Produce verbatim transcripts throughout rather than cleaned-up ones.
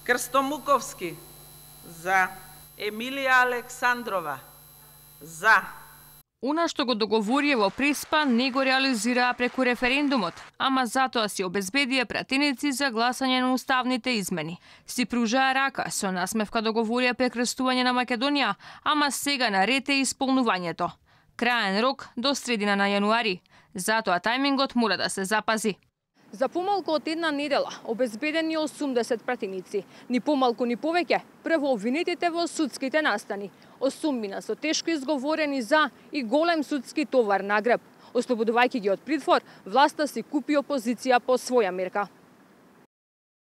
Крстомуковски за. Емилија Александрова за. Она што го договорија во Преспа не го реализираа преку референдумот, ама затоа си обезбедија пратеници за гласање на уставните измени. Си пружаа рака, со насмевка договорија прекрстување на Македонија, ама сега наред е исполнувањето. Краен рок до средина на јануари. Затоа тајмингот мора да се запази. За помалку од една недела обезбедени осумдесет пратеници, ни помалку ни повеќе, прво обвинетите во судските настани. Осумбина со тешко изговорени за и голем судски товар на грб. Ослободувајќи ги од притвор, власта си купи опозиција по своја мерка.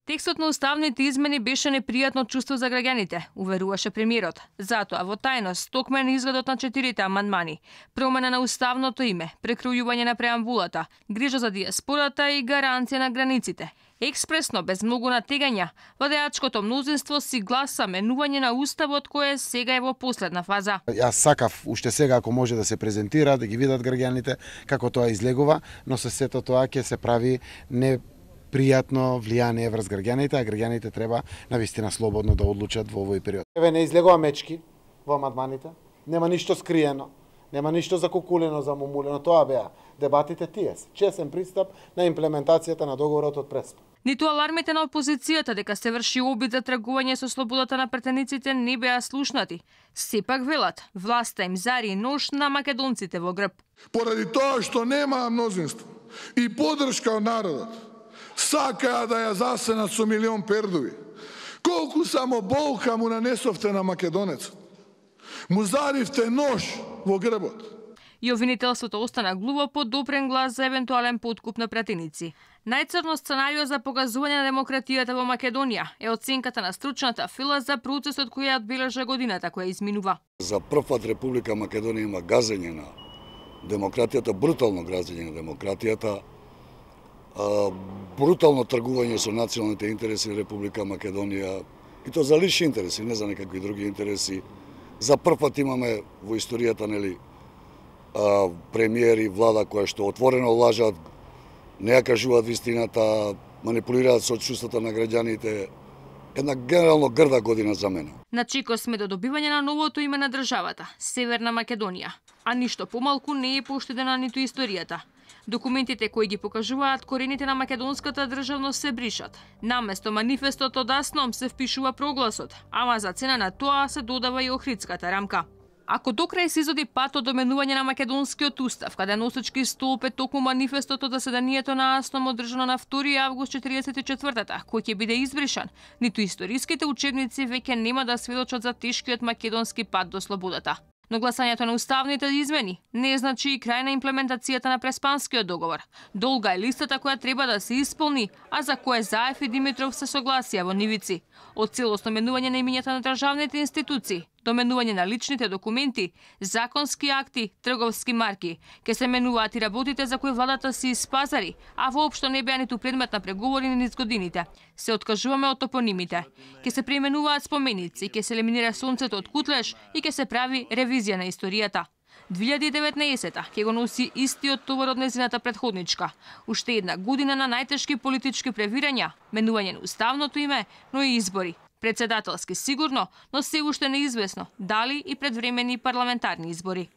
Текстот на уставните измени беше непријатно чувство за граѓаните, уверуваше премиерот. Затоа во тајност токмен изгледот на четирите амандмани, промена на уставното име, прекројување на преамбулата, грижа за дијаспората и гаранција на границите. Експресно, без многу натегања, владеачкото мнозинство си гласа менување на уставот кој сега е во последна фаза. Јас сакав уште сега ако може да се презентира, да ги видат граѓаните како тоа излегува, но со сето тоа ќе се прави не пријатно влијание врз граѓаните, а граѓаните треба навистина слободно да одлучат во овој период. Еве не излегува мечки во амандманите, нема ништо скриено, нема ништо закукулено, замумулено, тоа беа дебатите тие, чесен пристап на имплементацијата на договорот од Преспа. Ниту алармите на опозицијата дека се врши обид за тргување со слободата на пратениците не беа слушнати. Сепак велат, власта им зари нож на македонците во грб. Поради тоа што нема мнозинство и поддршка од народот, сакаа да ја засенат со милион пердови. Колку само болка му нанесовте на македонецот. Му заривте нож во грбот. И обвинителството остана глуво под допрен глас за евентуален подкуп на пратеници. Најцрно сценарио за погазување на демократијата во Македонија е оценката на стручната фила за процесот кој ја одбележа годината која изминува. За прв пат Република Македонија има газење на демократијата, брутално газење на демократијата, брутално тргување со националните интереси на Република Македонија, и то за лични интереси, не за некакви други интереси. За прв пат имаме во историјата, нели, премиери, влада која што отворено лажат, не ја кажуваат вистината, манипулираат со чувствата на граѓаните. Една генерално грда година за мене. На чеко сме до добивање на новото име на државата, Северна Македонија, а ништо помалку не е поштедена ниту историјата. Документите кои ги покажуваат корените на македонската државност се бришат. Наместо манифестот од Асном се впишува прогласот, ама за цена на тоа се додава и Охридската рамка. Ако до крај се изоди патот до менување на македонскиот устав, каде носечки столб е токму манифестот од заседанието на Асном одржано на втори август четиридесет и четвртата, кој ќе биде избришан, ниту историските учебници веќе нема да сведочат за тешкиот македонски пат до слободата. Но гласањето на уставните измени не значи и крај на имплементацијата на Преспанскиот договор. Долга е листата која треба да се исполни, а за која Заев и Димитров се согласија во нивици. Од целосно менување на имињата на државните институции, до менување на личните документи, законски акти, трговски марки, ке се менуваат и работите за кои владата си испазари, а воопшто не беа ниту предмет на преговори низ годините. Се откажуваме од топонимите. Ке се преименуваат споменици, ке се елиминира сонцето од Кутлеш и ке се прави ревизија на историјата. две илјади и деветнаесета ќе го носи истиот товар од незината претходничка. Уште една година на најтешки политички превирања, менување на уставното име, но и избори. Председателски сигурно, но се уште неизвестно дали и предвремени парламентарни избори.